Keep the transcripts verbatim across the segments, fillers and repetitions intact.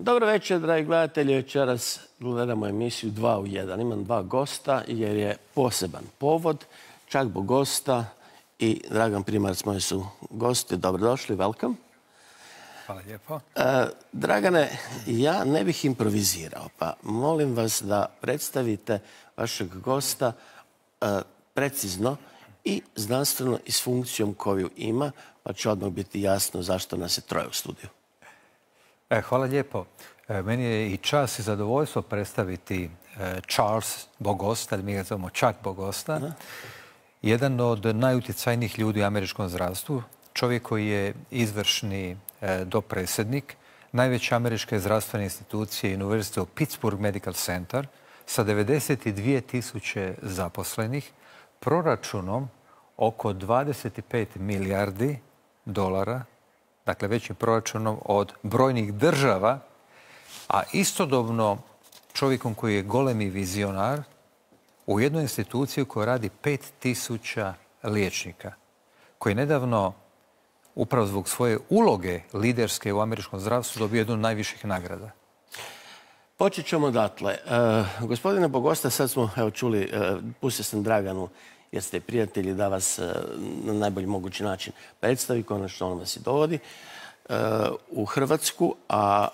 Dobro večer, dragi gledatelji. Večeras gledamo emisiju dva u jedan. Imam dva gosta jer je poseban povod. Čagbo gosta i Dragan Primarac, moji su gosti. Dobrodošli, welcome. Hvala lijepo. E, Dragane, ja ne bih improvizirao, pa molim vas da predstavite vašeg gosta e, precizno i znanstveno i s funkcijom koju ima, pa će odmah biti jasno zašto nas je troje u studiju. E, hvala lijepo. E, meni je i čast i zadovoljstvo predstaviti e, Charles Bogosta, mi ga zovemo Chuck Bogosta, Aha. jedan od najutjecajnijih ljudi u američkom zdravstvu, čovjek koji je izvršni e, dopredsjednik najveće američke zdravstvene institucije University of Pittsburgh Medical Center sa devedeset dvije tisuće zaposlenih, proračunom oko dvadeset pet milijardi dolara, dakle većim proračunom od brojnih država, a istodobno čovjekom koji je golemi vizionar u jednoj instituciji koja radi pet tisuća liječnika, koji je nedavno, upravo zbog svoje uloge liderske u američkom zdravstvu, dobio jednu od najviših nagrada. Počet ćemo odatle. E, gospodine Bogosta, sad smo evo, čuli, e, pustio sam Draganu, jer ste prijatelji, da vas e, na najbolji mogući način predstavi, konačno on vas i dovodi e, u Hrvatsku, a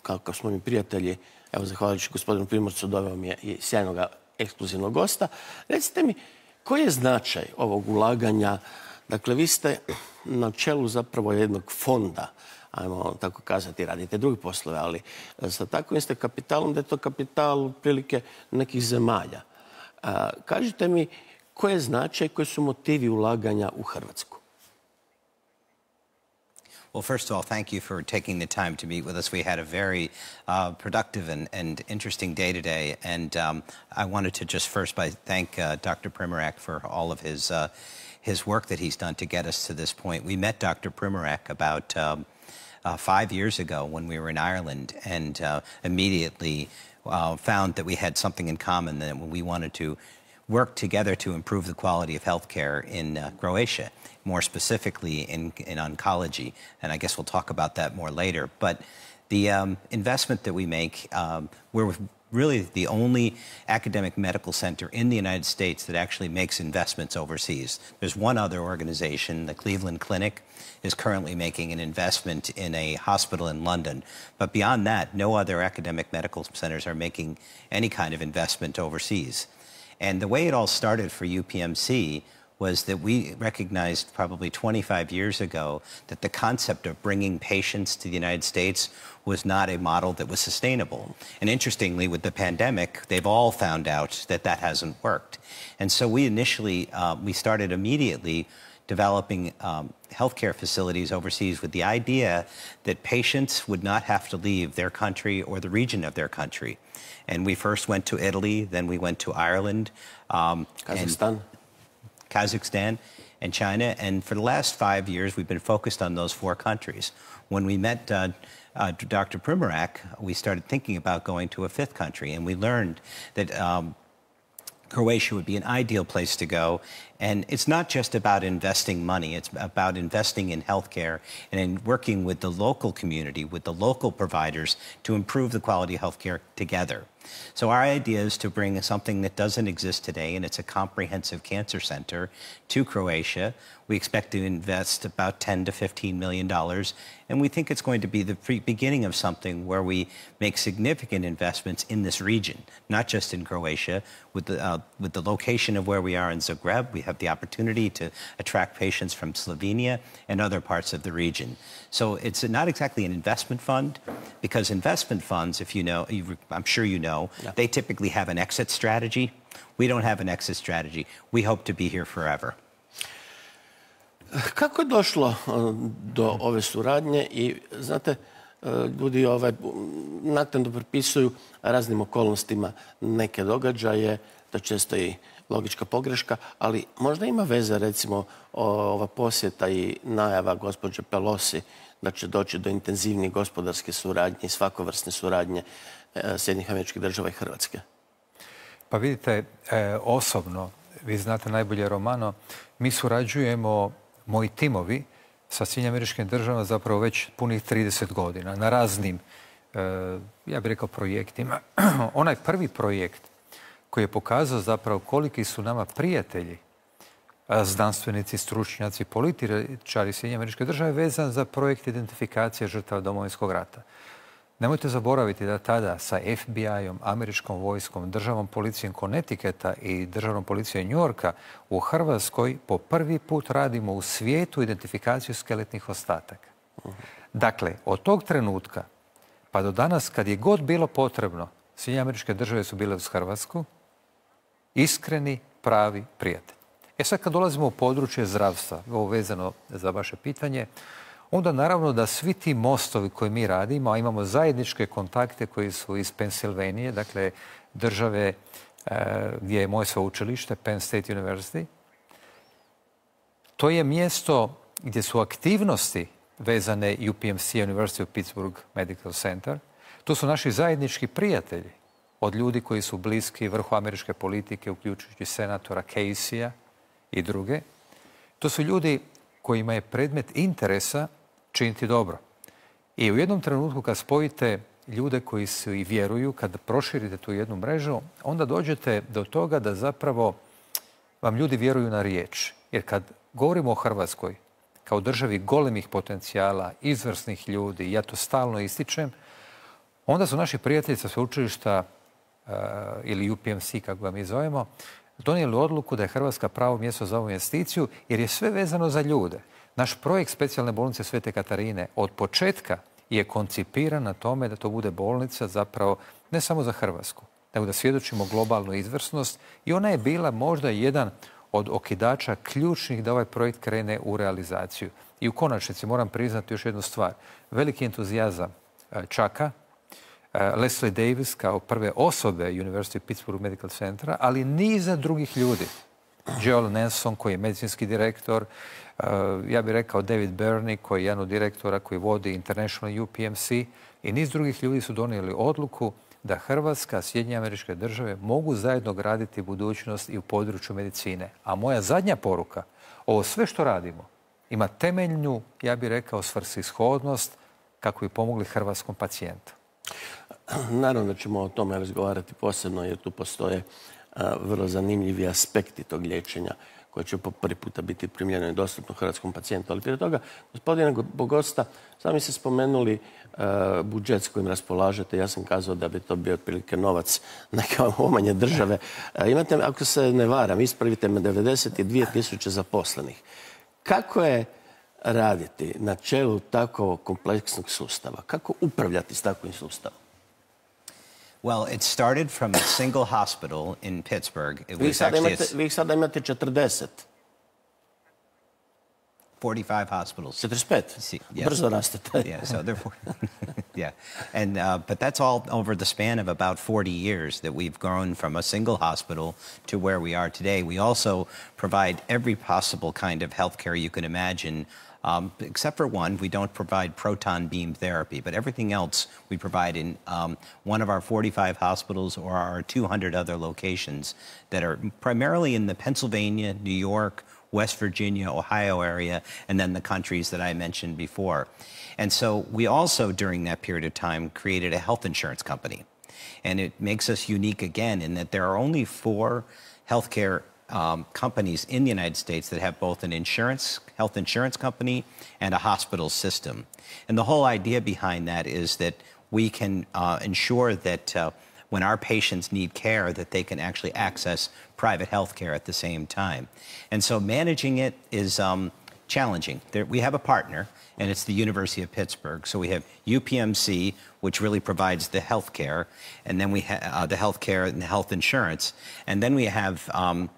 kako smo mi prijatelji, evo, zahvaljujući gospodinu Primorcu, doveo mi je i sjajnog ekskluzivnog gosta. Recite mi, koji je značaj ovog ulaganja? Dakle, vi ste na čelu zapravo jednog fonda, ajmo tako kazati, radite drugi poslove, ali sa takvim ste kapitalom, da je to kapital otprilike nekih zemalja. A, kažite mi, koji je značaj, koji su motivi ulaganja u Hrvatsku? Well, first of all, thank you for taking the time to meet with us. We had a very uh, productive and, and interesting day today, and um, I wanted to just first by thank uh, Doctor Primorac for all of his uh, his work that he's done to get us to this point. We met Doctor Primorac about um, uh, five years ago when we were in Ireland, and uh, immediately uh, found that we had something in common, that we wanted to work together to improve the quality of healthcare in uh, Croatia, more specifically in, in oncology. And I guess we'll talk about that more later. But the um, investment that we make, um, we're really the only academic medical center in the United States that actually makes investments overseas. There's one other organization, the Cleveland Clinic, is currently making an investment in a hospital in London. But beyond that, no other academic medical centers are making any kind of investment overseas. And the way it all started for U P M C was that we recognized probably twenty-five years ago that the concept of bringing patients to the United States was not a model that was sustainable. And interestingly, with the pandemic, they've all found out that that hasn't worked. And so we initially, uh, we started immediately developing um, healthcare facilities overseas with the idea that patients would not have to leave their country or the region of their country. And we first went to Italy, then we went to Ireland, um, Kazakhstan. and Kazakhstan and China. And for the last five years, we've been focused on those four countries. When we met uh, uh, Doctor Primorac, we started thinking about going to a fifth country, and we learned that um, Croatia would be an ideal place to go. And it's not just about investing money, it's about investing in healthcare and in working with the local community, with the local providers to improve the quality of healthcare together. So our idea is to bring something that doesn't exist today, and it's a comprehensive cancer center, to Croatia. We expect to invest about ten to fifteen million dollars, and we think it's going to be the beginning of something where we make significant investments in this region, not just in Croatia. With the, uh, with the location of where we are in Zagreb, we have the opportunity to attract patients from Slovenia and other parts of the region. So it's not exactly an investment fund, because investment funds, if you know, I'm sure you know, yeah. they typically have an exit strategy. We don't have an exit strategy. We hope to be here forever. Kako je došlo do ove suradnje i, znate, ljudi ovaj, naknadno pripisuju raznim okolnostima neke događaje, to je često i logička pogreška, ali možda ima veze, recimo, ova posjeta i najava gospođe Pelosi da će doći do intenzivnije gospodarske suradnje i svakovrsne suradnje Sjedinjenih Američkih Država i Hrvatske? Pa vidite, e, osobno, vi znate najbolje Romano, mi surađujemo, moji timovi, sa Sjedinjenim Američkim Državama zapravo već punih trideset godina na raznim ja bih rekao, projektima. Onaj prvi projekt koji je pokazao zapravo koliki su nama prijatelji, znanstvenici, stručnjaci, političari Sjedinjenih Američkih Država vezan za projekt identifikacije žrtava Domovinskog rata. Nemojte zaboraviti da tada sa F B I-om, američkom vojskom, državnom policijom Connecticuta i državnom policijom New Yorka u Hrvatskoj po prvi put radimo u svijetu identifikaciju skeletnih ostataka. Dakle, od tog trenutka pa do danas, kad je god bilo potrebno, Sjedinjene Američke Države su bile uz Hrvatsku, iskreni, pravi prijatelj. E sad, kad dolazimo u područje zdravstva, ovo vezano za vaše pitanje, onda naravno da svi ti mostovi koje mi radimo, a imamo zajedničke kontakte koji su iz Pensilvanije, dakle države e, gdje je moje sveučilište, Penn State University, to je mjesto gdje su aktivnosti vezane U P M C, University of Pittsburgh Medical Center. To su naši zajednički prijatelji od ljudi koji su bliski vrhu američke politike, uključujući senatora Casey-a i druge. To su ljudi kojima je predmet interesa činiti dobro. I u jednom trenutku kad spojite ljude koji su i vjeruju, kad proširite tu jednu mrežu, onda dođete do toga da zapravo vam ljudi vjeruju na riječ. Jer kad govorimo o Hrvatskoj kao državi golemih potencijala, izvrsnih ljudi, ja to stalno ističem, onda su naši prijatelji sa sveučilišta uh, ili U P M C, kako ga mi zovemo, donijeli odluku da je Hrvatska pravo mjesto za ovu investiciju, jer je sve vezano za ljude. Naš projekt specijalne bolnice Svete Katarine od početka je koncipiran na tome da to bude bolnica zapravo ne samo za Hrvatsku, nego da svjedočimo globalnu izvrsnost i ona je bila možda jedan od okidača ključnih da ovaj projekt krene u realizaciju. I u konačnici moram priznati još jednu stvar. Veliki entuzijazam Chucka, Leslie Davis kao prve osobe University of Pittsburgh Medical Centera, ali niza drugih ljudi. Joel Nelson koji je medicinski direktor, ja bih rekao David Burney koji je jedan od direktora koji vodi International U P M C i niz drugih ljudi su donijeli odluku da Hrvatska, Sjedinjene Američke Države mogu zajedno graditi budućnost i u području medicine. A moja zadnja poruka, ovo sve što radimo ima temeljnu, ja bih rekao, svrsishodnost kako bi pomogli hrvatskom pacijentu. Naravno da ćemo o tome razgovarati posebno jer tu postoje a, vrlo zanimljivi aspekti tog liječenja koje će po prvi puta biti primljeno i dostupno hrvatskom pacijentu. Ali prije toga, gospodine Bogosta, sami ste spomenuli a, budžet s kojim raspolažete. Ja sam kazao da bi to bio otprilike novac neke omanje države. A, imate, ako se ne varam, ispravite me, devedeset dvije tisuće zaposlenih. Kako je raditi na čelu tako kompleksnog sustava? Kako upravljati s takvim sustavom? Well, it started from a single hospital in Pittsburgh. It Vi was sada actually imate, a vi sada imate četrdeset. forty-five hospitals. četrdeset pet? See, yes. Brzo rastete. Yeah, so they're four. Yeah, and uh, but that's all over the span of about forty years that we've grown from a single hospital to where we are today. We also provide every possible kind of healthcare you can imagine. Um, except for one, we don't provide proton beam therapy, but everything else we provide in um, one of our forty-five hospitals or our two hundred other locations that are primarily in the Pennsylvania, New York, West Virginia, Ohio area, and then the countries that I mentioned before. And so we also, during that period of time, created a health insurance company. And it makes us unique again in that there are only four healthcare Um, companies in the United States that have both an insurance, health insurance company and a hospital system. And the whole idea behind that is that we can uh, ensure that uh, when our patients need care, that they can actually access private health care at the same time. And so managing it is um, challenging. There, we have a partner, and it's the University of Pittsburgh. So we have U P M C, which really provides the health care, and then we have uh, the health care and the health insurance. And then we have um,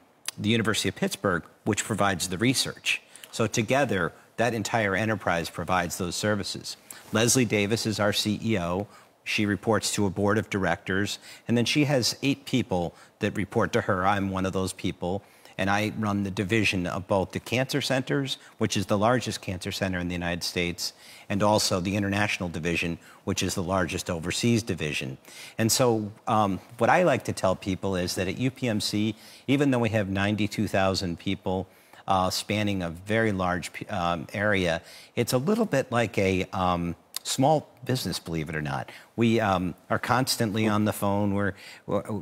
the University of Pittsburgh, which provides the research. So together, that entire enterprise provides those services. Leslie Davis is our C E O. She reports to a board of directors, and then she has eight people that report to her. I'm one of those people, and I run the division of both the cancer centers, which is the largest cancer center in the United States, and also the international division, which is the largest overseas division. And so um, what I like to tell people is that at U P M C, even though we have ninety-two thousand people uh, spanning a very large um, area, it's a little bit like a, um, small business, believe it or not. We um, are constantly on the phone. We're,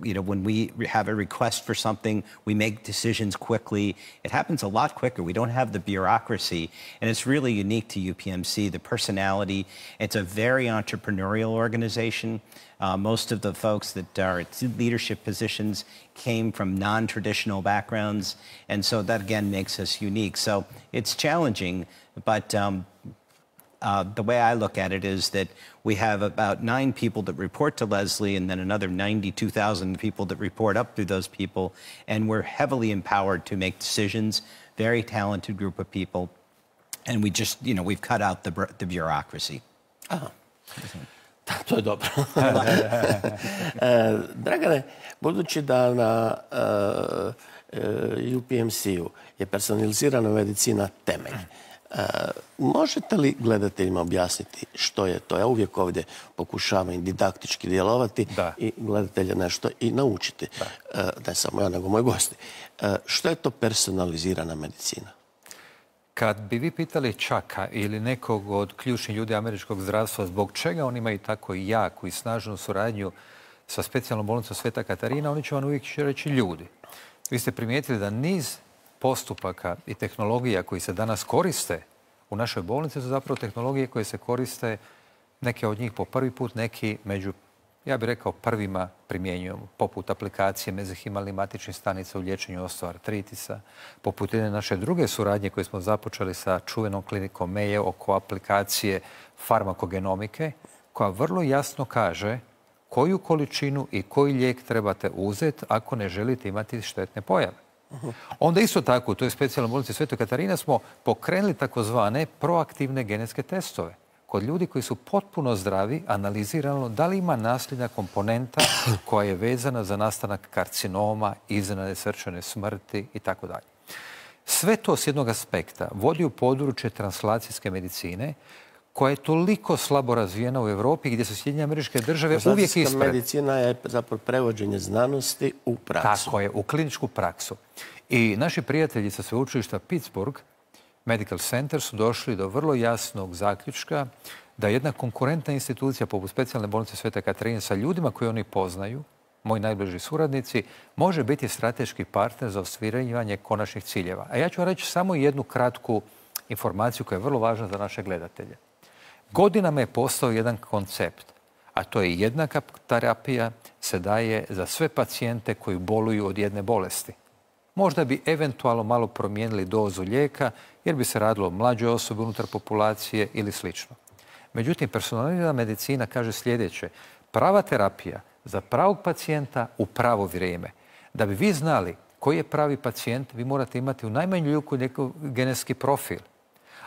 you know, when we have a request for something, we make decisions quickly. It happens a lot quicker. We don't have the bureaucracy, and it's really unique to U P M C, the personality. It's a very entrepreneurial organization. Uh, most of the folks that are at leadership positions came from non-traditional backgrounds, and so that, again, makes us unique. So it's challenging, but um, Uh, the way I look at it is that we have about nine people that report to Leslie and then another ninety-two thousand people that report up through those people. And we're heavily empowered to make decisions, very talented group of people. And we just, you know, we've cut out the, the bureaucracy. Aha. To je dobro. Dragane, budući da na U P M C-u je personalizirana medicina temelj, Uh, možete li gledateljima objasniti što je to? Ja uvijek ovdje pokušavam i didaktički djelovati da. I gledatelja nešto i naučiti. Uh, ne samo ja, nego moji gosti. Uh, što je to personalizirana medicina? Kad bi vi pitali Čaka ili nekog od ključnih ljudi američkog zdravstva zbog čega oni imaju tako jaku i snažnu suradnju sa specijalnom bolnicom Sveta Katarina, oni će vam uvijek reći ljudi. Vi ste primijetili da niz postupaka i tehnologija koji se danas koriste u našoj bolnici su zapravo tehnologije koje se koriste, neke od njih po prvi put, neki među, ja bih rekao, prvima primjenjujemo, poput aplikacije mezihimalnih matičnih stanica u liječenju osteoartritisa, poput jedne naše druge suradnje koje smo započeli sa čuvenom klinikom Mayo oko aplikacije farmakogenomike, koja vrlo jasno kaže koju količinu i koji lijek trebate uzeti ako ne želite imati štetne pojave. Onda isto tako, u toj specijalnoj bolnici Svetoj Katarina smo pokrenuli takozvane proaktivne genetske testove. Kod ljudi koji su potpuno zdravi, analizirano da li ima nasljedna komponenta koja je vezana za nastanak karcinoma, iznenadne srčane smrti i tako dalje. Sve to s jednog aspekta vodi u područje translacijske medicine, koja je toliko slabo razvijena u Europi, gdje su Sjedinjene Američke Države uvijek ispred. Medicina je zapravo prevođenje znanosti u praksu. Tako je, u kliničku praksu. I naši prijatelji sa sveučilišta Pittsburgh Medical Center su došli do vrlo jasnog zaključka da jedna konkurentna institucija poput specijalne bolnice Svete Katarine sa ljudima koje oni poznaju, moji najbliži suradnici, može biti strateški partner za ostvarivanje konačnih ciljeva. A ja ću reći samo jednu kratku informaciju koja je vrlo važna za naše gledatelje. Godinama je postao jedan koncept, a to je jednaka terapija se daje za sve pacijente koji boluju od jedne bolesti. Možda bi eventualno malo promijenili dozu lijeka jer bi se radilo o mlađoj osobi unutar populacije ili slično. Međutim, personalizirana medicina kaže sljedeće. Prava terapija za pravog pacijenta u pravo vrijeme. Da bi vi znali koji je pravi pacijent, vi morate imati u najmanju ruku neki genetski profil.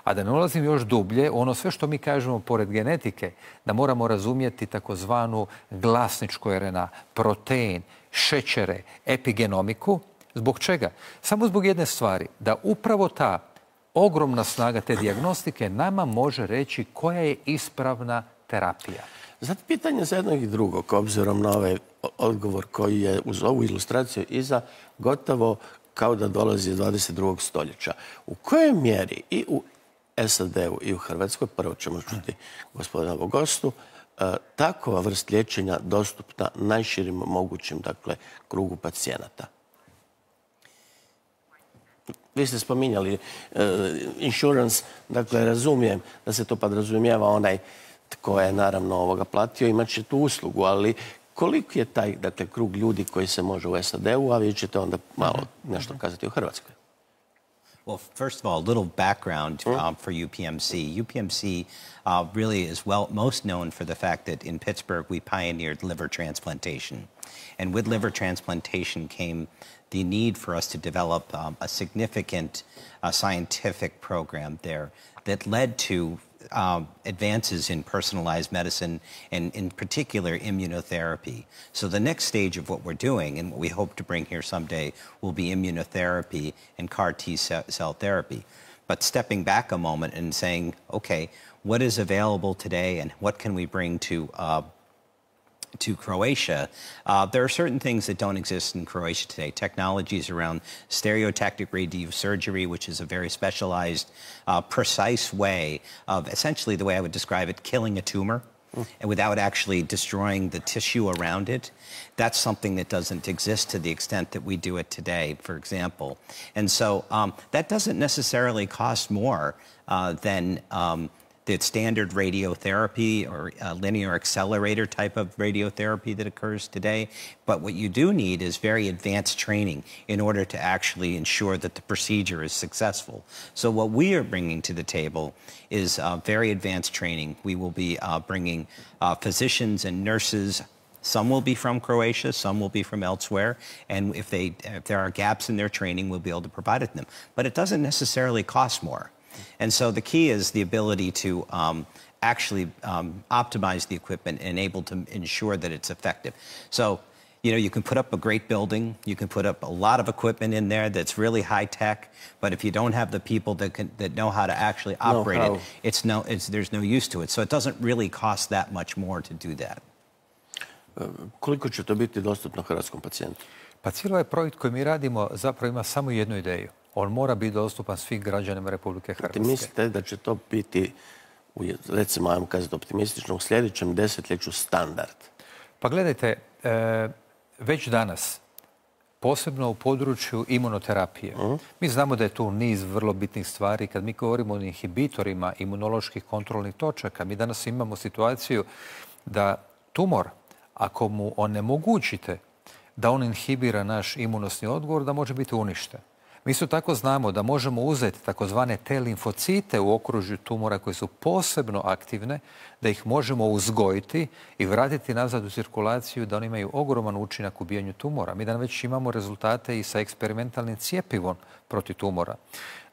A da ne ulazim još dublje, ono sve što mi kažemo pored genetike, da moramo razumjeti takozvanu glasničku R N A, protein, šećere, epigenomiku. Zbog čega? Samo zbog jedne stvari, da upravo ta ogromna snaga te dijagnostike nama može reći koja je ispravna terapija. Zato pitanje za jednog i drugog, obzirom na ovaj odgovor koji je uz ovu ilustraciju iza gotovo kao da dolazi iz dvadeset drugog stoljeća. U kojoj mjeri i u S A D-u i u Hrvatskoj, prvo ćemo čuti gospodina Bogostu, takova vrst liječenja dostupna najširim mogućim, dakle, krugu pacijenata? Vi ste spominjali uh, insurance, dakle, razumijem da se to podrazumijeva onaj tko je naravno ovoga platio, imat će tu uslugu, ali koliko je taj, dakle, krug ljudi koji se može u S A D-u, a vi ćete onda malo nešto kazati u Hrvatskoj? Well, first of all, a little background um, for U P M C. U P M C uh, really is well most known for the fact that in Pittsburgh we pioneered liver transplantation. And with liver transplantation came the need for us to develop um, a significant uh, scientific program there that led to um, advances in personalized medicine and in particular immunotherapy. So the next stage of what we're doing and what we hope to bring here someday will be immunotherapy and C A R T cell therapy. But stepping back a moment and saying, okay, what is available today and what can we bring to uh, to Croatia, uh, there are certain things that don't exist in Croatia today. Technologies around stereotactic radiosurgery, which is a very specialized, uh, precise way of, essentially the way I would describe it, killing a tumor. Mm. And without actually destroying the tissue around it. That's something that doesn't exist to the extent that we do it today, for example. And so um, that doesn't necessarily cost more uh, than um, the standard radiotherapy or uh, linear accelerator type of radiotherapy that occurs today. But what you do need is very advanced training in order to actually ensure that the procedure is successful. So what we are bringing to the table is uh, very advanced training. We will be uh, bringing uh, physicians and nurses. Some will be from Croatia, some will be from elsewhere, and if, they, if there are gaps in their training, we'll be able to provide it to them. But it doesn't necessarily cost more. And so the key is the ability to um, actually um, optimize the equipment and able to ensure that it's effective. So, you know, you can put up a great building, you can put up a lot of equipment in there that's really high tech, but if you don't have the people that can, that know how to actually operate no, it, it's no, it's, there's no use to it. So it doesn't really cost that much more to do that. Koliko će to biti dostupno hrvatskom pacijentu? Pa cijeli ovaj projekt koji mi radimo zapravo ima samo jednu ideju. On mora biti dostupan svim građanima Republike Hrvatske. Ti mislite da će to biti, recimo, ajmo kazati optimistično, u sljedećem desetljeću standard? Pa gledajte, već danas, posebno u području imunoterapije, mi znamo da je tu niz vrlo bitnih stvari. Kad mi govorimo o inhibitorima imunoloških kontrolnih točaka, mi danas imamo situaciju da tumor, ako mu onemogućite da on inhibira naš imunosni odgovor, da može biti uništen. Mi isto tako znamo da možemo uzeti takozvane T limfocite u okružju tumora koje su posebno aktivne, da ih možemo uzgojiti i vratiti nazad u cirkulaciju, da oni imaju ogroman učinak u ubijanju tumora. Mi danas već imamo rezultate i sa eksperimentalnim cjepivom protiv tumora.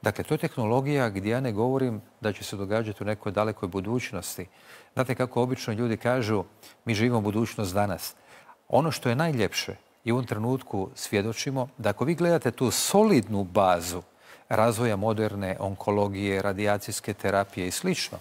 Dakle, to je tehnologija gdje ja ne govorim da će se događati u nekoj dalekoj budućnosti. Znate kako obično ljudi kažu, mi živimo budućnost danas. Ono što je najljepše i u ovom trenutku svjedočimo da ako vi gledate tu solidnu bazu razvoja moderne onkologije, radijacijske terapije i slično,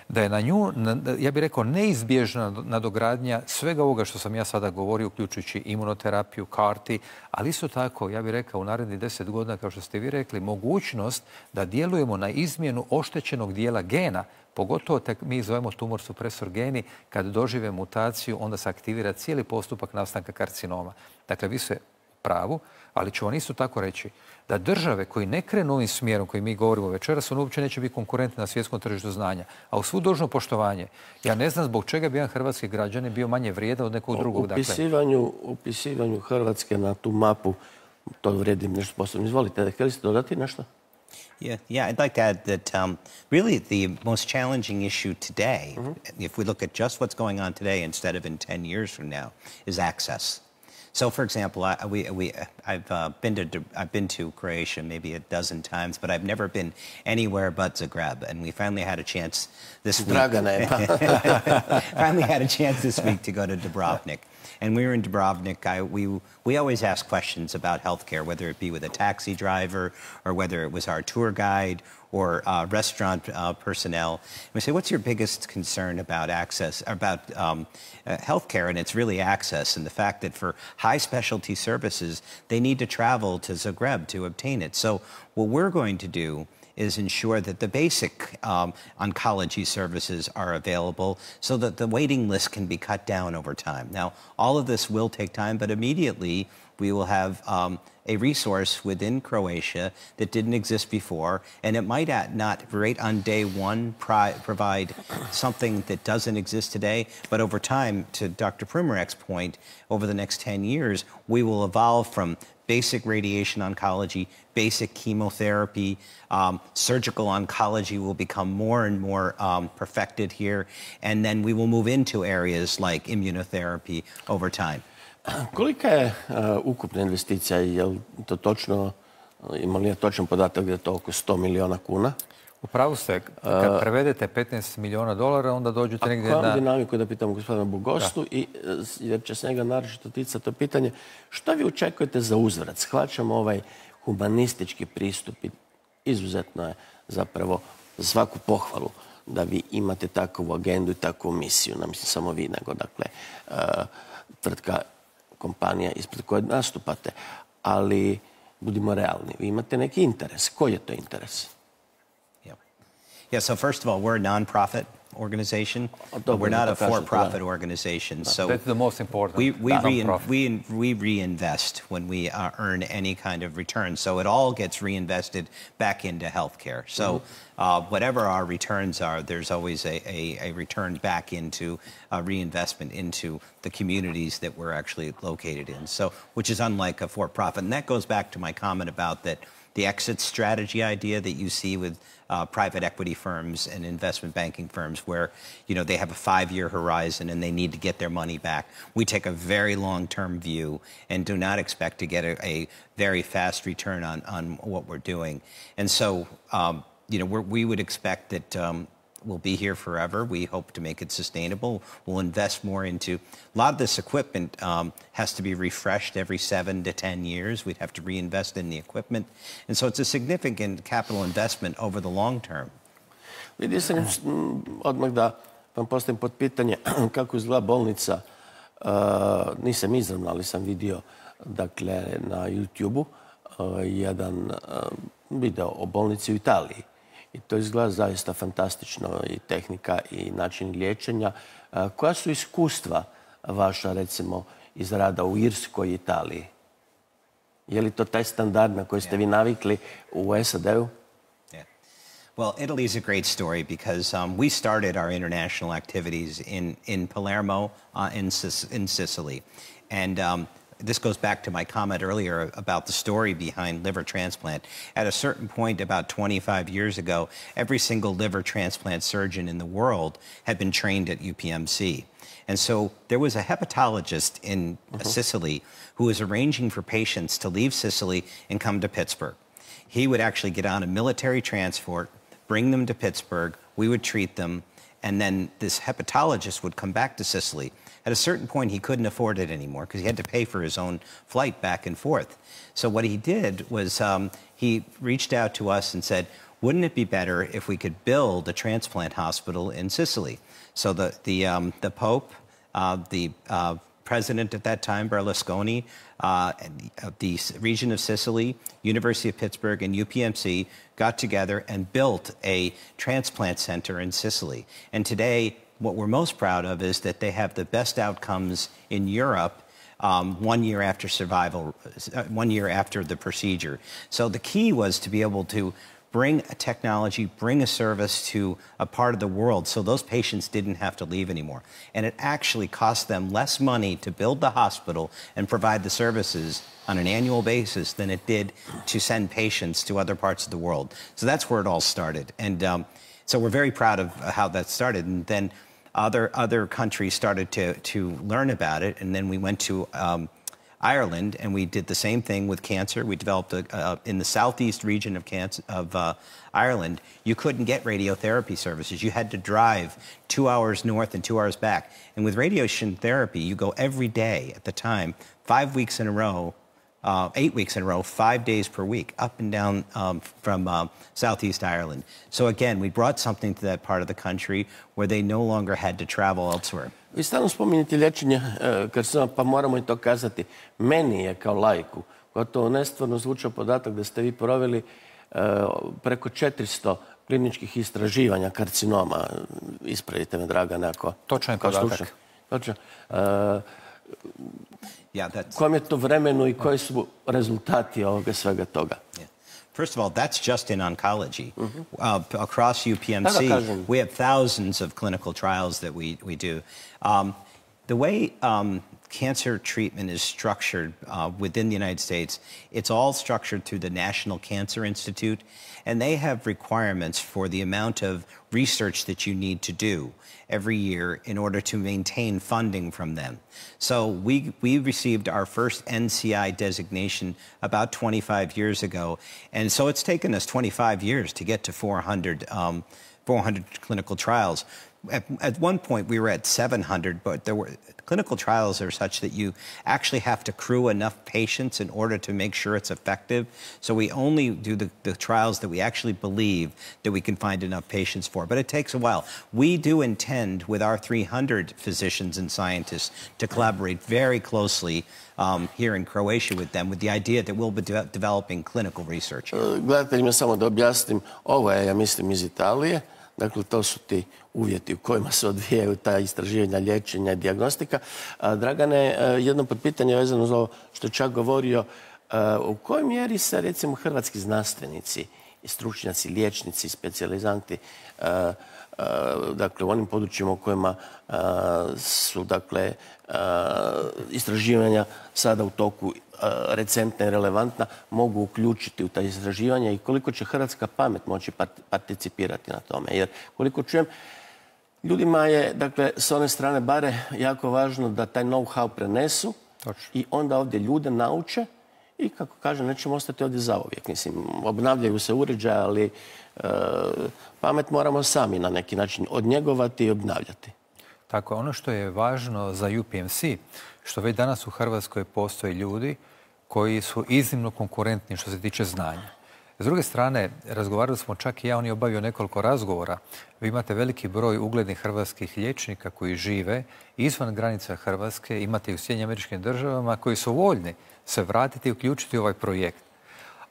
da je na nju, ja bih rekao, neizbježna nadogradnja svega ovoga što sam ja sada govorio, uključujući imunoterapiju, karti, ali isto tako, ja bih rekao, u narednih deset godina, kao što ste vi rekli, mogućnost da djelujemo na izmjenu oštećenog dijela gena, pogotovo mi zovemo tumor supresor geni, kad dožive mutaciju, onda se aktivira cijeli postupak nastanka karcinoma. Dakle, vi ste u pravu, ali ću vam isto tako reći da države koji ne krenu ovim smjerom koji mi govorimo večeras, on uopće neće biti konkurentni na svjetskom tržištu znanja. A u svu dužno poštovanje, ja ne znam zbog čega bi jedan hrvatski građanin bio manje vrijedan od nekog drugog. Upisivanju, upisivanju Hrvatske na tu mapu, to vredi nešto posebno. Izvolite, htjeli ste dodati nešto? Yeah, yeah, I'd like to add that um, really the most challenging issue today, mm-hmm. if we look at just what's going on today instead of in ten years from now, is access. So, for example, I, we, we, I've, uh, been to, I've been to Croatia maybe a dozen times, but I've never been anywhere but Zagreb. And we finally had a chance this week. finally had a chance this week to go to Dubrovnik. And we were in Dubrovnik. I, we, we always ask questions about healthcare, whether it be with a taxi driver or whether it was our tour guide or uh, restaurant uh, personnel. And we say, what's your biggest concern about access, about um, uh, healthcare? And it's really access and the fact that for high specialty services, they need to travel to Zagreb to obtain it. So what we're going to do is ensure that the basic um, oncology services are available so that the waiting list can be cut down over time. Now, all of this will take time, but immediately we will have um, a resource within Croatia that didn't exist before, and it might not right on day one pri provide something that doesn't exist today, but over time, to Doctor Primorak's point, over the next ten years, we will evolve from basic radiation oncology, basic chemotherapy, um, surgical oncology will become more and more um, perfected here, and then we will move into areas like immunotherapy over time. Kolika je uh, ukupna investicija? Je li to točno, ima li je točan podatak da je to oko sto miliona kuna? U pravu ste, kad prevedete petnaest miliona dolara, onda dođete negdje na... A koju dinamiku da pitamo gospodina Bogostu, i, jer će se njega naročito ticati to pitanje, što vi očekujete za uzvrat? Shvaćamo ovaj humanistički pristup i izuzetno je zapravo za svaku pohvalu da vi imate takvu agendu i takvu misiju. Ne mislim samo vi, nego dakle, tvrtka, kompanija ispred koje nastupate. Ali budimo realni, vi imate neki interes. Koji je to interes? Yeah. Yeah, so first of all, we're a non-profit organization. We're not a for-profit organization. So that's the most important. We we, rein, we we reinvest when we uh, earn any kind of return. So it all gets reinvested back into healthcare. So uh, whatever our returns are, there's always a, a, a return back into uh, reinvestment into the communities that we're actually located in. So which is unlike a for-profit, and that goes back to my comment about that. The exit strategy idea that you see with uh, private equity firms and investment banking firms where, you know, they have a five-year horizon and they need to get their money back. We take a very long-term view and do not expect to get a, a very fast return on, on what we're doing. And so, um, you know, we're, we would expect that um, we'll be here forever. We hope to make it sustainable. We'll invest more into a lot of this equipment um, has to be refreshed every seven to ten years. We'd have to reinvest in the equipment. And so it's a significant capital investment over the long term. Vidio sam odmah da vam postavim pod pitanje kako izgleda bolnica. Uh, nisam izravno, ali sam vidio dakle, na YouTube-u uh, jedan uh, video o bolnici u Italiji. I to izgleda zaista fantastično, i tehnika i način liječenja. Koja su iskustva vaša, recimo, iz rada u Irskoj i Italiji? Je li to taj standard na koji ste vi navikli u S A D-u? Yeah. Well, Italy is a great story because um, we started our international activities in, in Palermo, uh, in, in Sicily. And um, this goes back to my comment earlier about the story behind liver transplant. At a certain point, about twenty-five years ago, every single liver transplant surgeon in the world had been trained at U P M C. And so there was a hepatologist in uh-huh. Sicily who was arranging for patients to leave Sicily and come to Pittsburgh. He would actually get on a military transport, bring them to Pittsburgh, we would treat them, and then this hepatologist would come back to Sicily. At a certain point, he couldn't afford it anymore because he had to pay for his own flight back and forth. So what he did was um, he reached out to us and said, wouldn't it be better if we could build a transplant hospital in Sicily? So the, the, um, the Pope, uh, the uh, president at that time, Berlusconi, uh, the region of Sicily, University of Pittsburgh, and U P M C got together and built a transplant center in Sicily. And today, what we're most proud of is that they have the best outcomes in Europe um, one year after survival, uh, one year after the procedure. So the key was to be able to bring a technology, bring a service to a part of the world so those patients didn't have to leave anymore. And it actually cost them less money to build the hospital and provide the services on an annual basis than it did to send patients to other parts of the world. So that's where it all started. And um, so we're very proud of how that started. And then Other, other countries started to, to learn about it, and then we went to um, Ireland, and we did the same thing with cancer. We developed, a, uh, in the southeast region of, cancer, of uh, Ireland, you couldn't get radiotherapy services. You had to drive two hours north and two hours back. And with radiation therapy, you go every day at the time, five weeks in a row, Uh, eight weeks in a row, five days per week, up and down um, from uh, Southeast Ireland. So again, we brought something to that part of the country where they no longer had to travel elsewhere. Vi stalno spominjete liječenje karcinoma, pa moramo i to kazati. Meni je kao laiku gotovo nestvarno zvučao podatak da ste vi proveli uh, preko četiristo kliničkih istraživanja karcinoma. Ispravite me, Dragane, ako... Točan je podatak. Točan. Uh, Yeah, that's... Kojem je to vremenu i koji su rezultati ovoga svega toga? Yeah. First of all, that's just in oncology. Mm-hmm. uh, across U P M C, we have thousands of clinical trials that we, we do. Um, the way um, cancer treatment is structured uh, within the United States, it's all structured through the National Cancer Institute, and they have requirements for the amount of research that you need to do every year in order to maintain funding from them. So we, we received our first N C I designation about twenty-five years ago, and so it's taken us twenty-five years to get to four hundred, um, four hundred clinical trials. at, at one point we were at seven hundred, but there were clinical trials are such that you actually have to accrue enough patients in order to make sure it's effective. So we only do the, the trials that we actually believe that we can find enough patients for. But it takes a while. We do intend, with our three hundred physicians and scientists, to collaborate very closely um, here in Croatia with them, with the idea that we'll be de developing clinical research here. Gledateljima samo da objasnim, ovo je, ja mislim, iz Italije. Dakle, to su ti uvjeti u kojima se odvijaju ta istraživanja, liječenja i dijagnostika. Dragane, jedno pitanje vezano za ovo što je čak govorio, u kojoj mjeri se, recimo, hrvatski znanstvenici i stručnjaci, liječnici, specijalizanti, dakle, u onim područjima u kojima su, dakle, istraživanja sada u toku recentna i relevantna, mogu uključiti u ta istraživanja i koliko će hrvatska pamet moći participirati na tome. Jer koliko čujem, ljudima je, dakle, s one strane bare jako važno da taj know-how prenesu i onda ovdje ljude nauče i, kako kažem, nećemo ostati ovdje zauvijek. Mislim, obnavljaju se uređaje, ali pamet moramo sami na neki način odnjegovati i obnavljati. Tako, ono što je važno za U P M C, što već danas u Hrvatskoj postoje ljudi koji su iznimno konkurentni što se tiče znanja. S druge strane, razgovarali smo čak i ja, on je obavio nekoliko razgovora. Vi imate veliki broj uglednih hrvatskih liječnika koji žive izvan granica Hrvatske, imate i u Sjedinjenim Američkim Državama koji su voljni se vratiti i uključiti u ovaj projekt.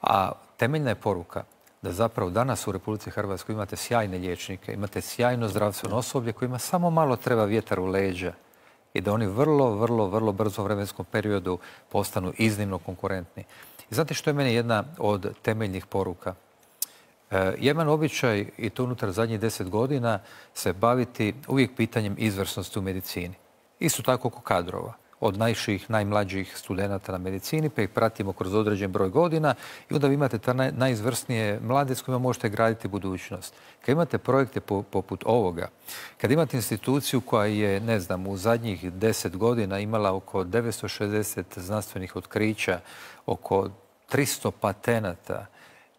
A temeljna je poruka da zapravo danas u Republici Hrvatskoj imate sjajne liječnike, imate sjajno zdravstveno osoblje kojima samo malo treba vjetar u leđa i da oni vrlo, vrlo, vrlo brzo u vremenskom periodu postanu iznimno konkurentni. I znate što je meni jedna od temeljnih poruka? E, jedan običaj, i to unutar zadnjih deset godina, se baviti uvijek pitanjem izvrsnosti u medicini. Isto tako oko kadrova. Od najših, najmlađih studenata na medicini, pa ih pratimo kroz određen broj godina i onda vi imate ta naj, najizvrsnije mlade s kojima možete graditi budućnost. Kad imate projekte po, poput ovoga, kad imate instituciju koja je, ne znam, u zadnjih deset godina imala oko devetsto šezdeset znanstvenih otkrića, oko tristo patenata,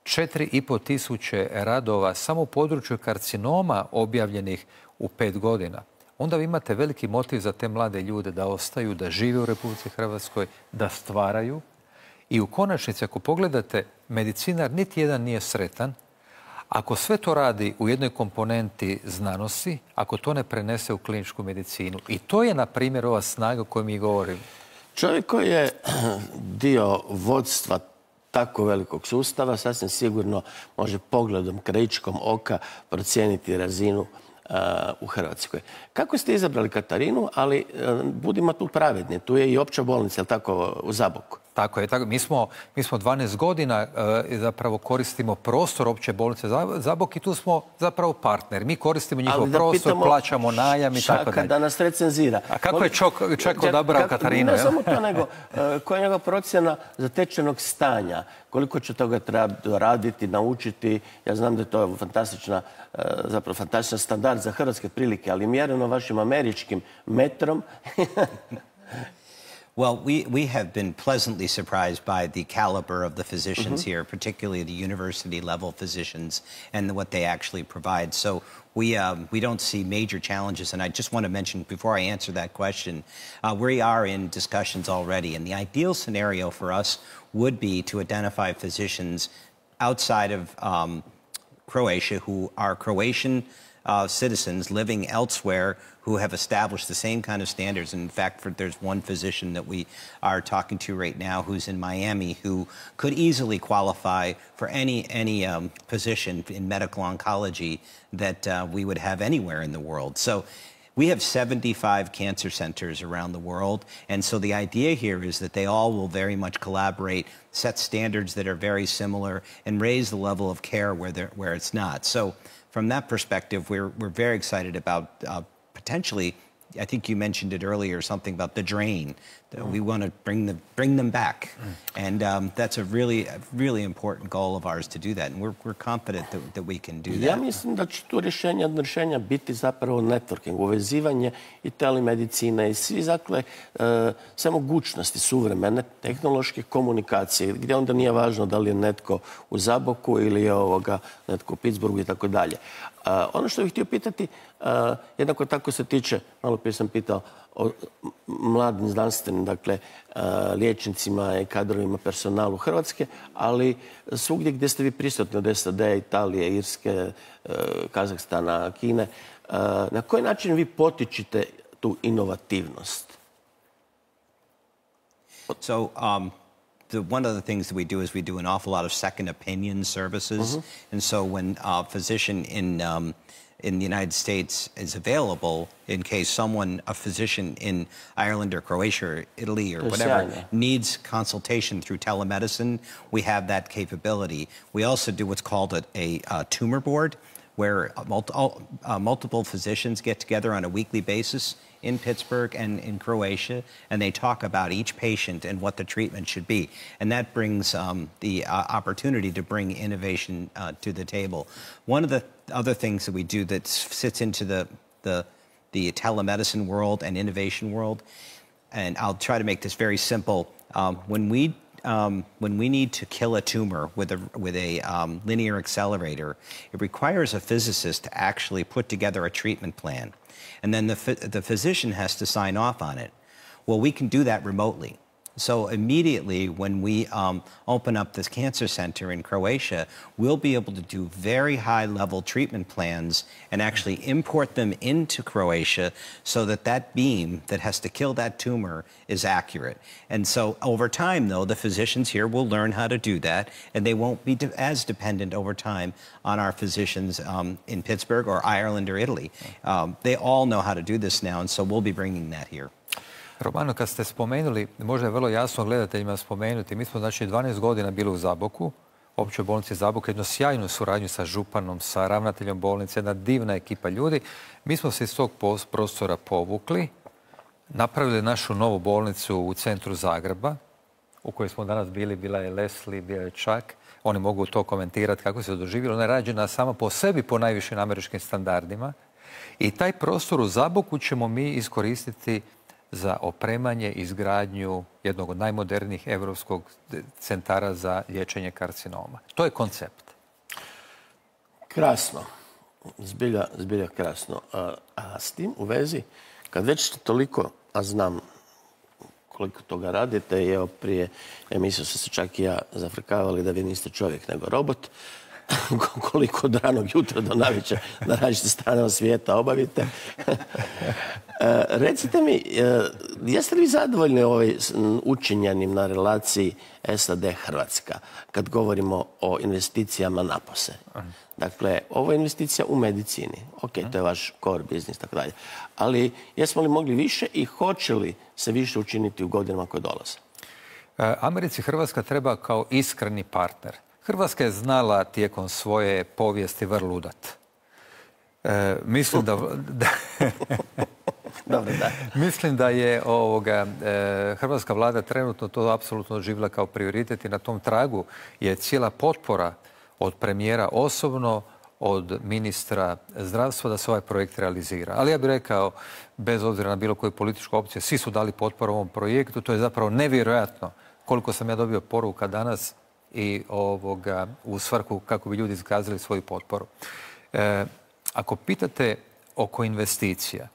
četiri i po tisuće radova samo u području karcinoma objavljenih u pet godina, onda vi imate veliki motiv za te mlade ljude da ostaju, da žive u Republici Hrvatskoj, da stvaraju. I u konačnici, ako pogledate, medicinar niti jedan nije sretan ako sve to radi u jednoj komponenti znanosti, ako to ne prenese u kliničku medicinu. I to je, na primjer, ova snaga o kojoj mi govorimo. Čovjek koji je dio vodstva tako velikog sustava sasvim sigurno može pogledom krajičkom oka procijeniti razinu u Hrvatskoj. Kako ste izabrali Katarinu, ali budimo tu pravedni, tu je i opća bolnica, je li tako, u Zaboku? Tako je. Tako. Mi, smo, mi smo dvanaest godina e, zapravo koristimo prostor opće bolnice Zabok i tu smo zapravo partner. Mi koristimo njihov prostor, pitamo, plaćamo najam i tako dalje. Da nas recenzira. A kako Koli... je čok, čak odabrao Katarinu? Ne samo to, nego koja je njegova procjena zatečenog stanja? Koliko će toga treba raditi, naučiti? Ja znam da je to fantastična, zapravo fantastičan standard za hrvatske prilike, ali mjereno vašim američkim metrom... Well, we, we have been pleasantly surprised by the caliber of the physicians mm-hmm. here, particularly the university-level physicians and what they actually provide. So we, um, we don't see major challenges. And I just want to mention, before I answer that question, uh, we are in discussions already. And the ideal scenario for us would be to identify physicians outside of um, Croatia who are Croatian uh, citizens living elsewhere who have established the same kind of standards. And in fact, for, there's one physician that we are talking to right now who's in Miami who could easily qualify for any, any um, position in medical oncology that uh, we would have anywhere in the world. So we have seventy-five cancer centers around the world. And so the idea here is that they all will very much collaborate, set standards that are very similar, and raise the level of care where, where it's not. So from that perspective, we're, we're very excited about uh, potentially, I think you mentioned it earlier, something about the drain. Mm. We want to bring them, bring them back. Mm. And um, that's a really, a really important goal of ours to do that. And we're, we're confident that, that we can do that. Ja mislim da će tu rješenja, rješenja biti zapravo networking, uvezivanje i telemedicine i svi, dakle, e, sve mogućnosti suvremene tehnološke komunikacije, gdje onda nije važno da li je netko u Zaboku ili je ovoga, netko u Pittsburghu i tako dalje. Ono što bih htio pitati, jednako tako se tiče, malo prije sam pitao o mladim znanstvenim, dakle, liječnicima i kadrovima personalu Hrvatske, ali svugdje gdje ste vi prisutni od S A D, Italije, Irske, Kazahstana, Kine, na koji način vi potičite tu inovativnost? So, um, the, one of the things that we do is we do an awful lot of second opinion services. Mm-hmm. And so when a physician in, um, in the United States is available, in case someone, a physician in Ireland or Croatia or Italy or whatever, needs consultation through telemedicine, we have that capability. We also do what's called a, a, a tumor board, where multi, uh, multiple physicians get together on a weekly basis in Pittsburgh and in Croatia, and they talk about each patient and what the treatment should be. And that brings um, the uh, opportunity to bring innovation uh, to the table. One of the other things that we do that sits into the, the, the telemedicine world and innovation world, and I'll try to make this very simple. Um, when we Um, when we need to kill a tumor with a, with a um, linear accelerator, it requires a physicist to actually put together a treatment plan. And then the, the physician has to sign off on it. Well, we can do that remotely. So immediately when we um, open up this cancer center in Croatia, we'll be able to do very high-level treatment plans and actually import them into Croatia so that that beam that has to kill that tumor is accurate. And so over time, though, the physicians here will learn how to do that, and they won't be de- as dependent over time on our physicians um, in Pittsburgh or Ireland or Italy. Um, they all know how to do this now, and so we'll be bringing that here. Romano, kad ste spomenuli, možda je vrlo jasno gledateljima spomenuti, mi smo znači dvanaest godina bili u Zaboku, općoj bolnici Zabok, jednu sjajnu suradnju sa županom, sa ravnateljom bolnice, jedna divna ekipa ljudi. Mi smo se iz tog prostora povukli, napravili našu novu bolnicu u centru Zagreba, u kojoj smo danas bili, bila je Leslie, bila je Chuck. Oni mogu to komentirati kako se doživjelo. Ona je rađena sama po sebi po najvišim američkim standardima. I taj prostor u Zaboku ćemo mi iskoristiti za opremanje i izgradnju jednog od najmodernijih evropskog centara za liječenje karcinoma. To je koncept. Krasno. Zbilja, zbilja krasno. A, a s tim u vezi, kad već toliko, a znam koliko toga radite, i evo prije emisiju su se čak i ja zafrkavali da vi niste čovjek nego robot, koliko od ranog jutra do navečer na različite strane svijeta obavite. Recite mi, jeste li vi zadovoljni ovaj učinjenim na relaciji S A D Hrvatska kad govorimo o investicijama napose? Dakle, ovo je investicija u medicini. Ok, to je vaš core business, tako dalje. Ali jesmo li mogli više i hoće li se više učiniti u godinama koje dolaze? Americi Hrvatska treba kao iskreni partner. Hrvatska je znala tijekom svoje povijesti vrludat. E, mislim da... da Dobro, da. Mislim da je ovoga, e, hrvatska vlada trenutno to apsolutno doživjela kao prioritet i na tom tragu je cijela potpora od premijera osobno, od ministra zdravstva da se ovaj projekt realizira. Ali ja bih rekao, bez obzira na bilo koju političku opciju, svi su dali potporu ovom projektu. To je zapravo nevjerojatno koliko sam ja dobio poruka danas i ovoga, u svrhu kako bi ljudi iskazali svoju potporu. E, ako pitate oko investicija,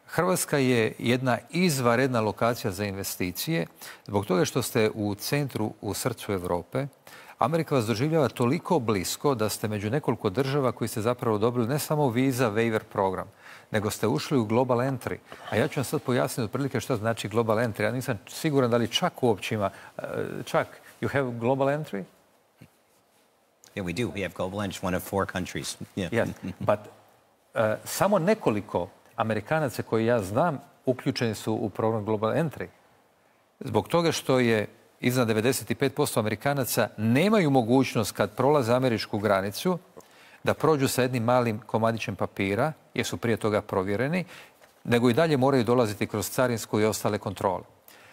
Hrvatska je jedna izvanredna lokacija za investicije zbog toga što ste u centru, u srcu Europe. Amerika vas doživljava toliko blisko da ste među nekoliko država koji ste zapravo dobili ne samo visa waiver program, nego ste ušli u global entry. A ja ću vam sad pojasniti otprilike što znači global entry. Ja nisam siguran da li čak uopće ima. Čak, you have global entry? Yeah, we do. We have global entry, one of four countries. Yeah. Yes, but uh, samo nekoliko Amerikanaca koji ja znam uključeni su u program global entry. Zbog toga što je iznad devedeset pet posto Amerikanaca nemaju mogućnost kad prolaze američku granicu da prođu sa jednim malim komadićem papira, jer su prije toga provjereni, nego i dalje moraju dolaziti kroz carinsku i ostale kontrole.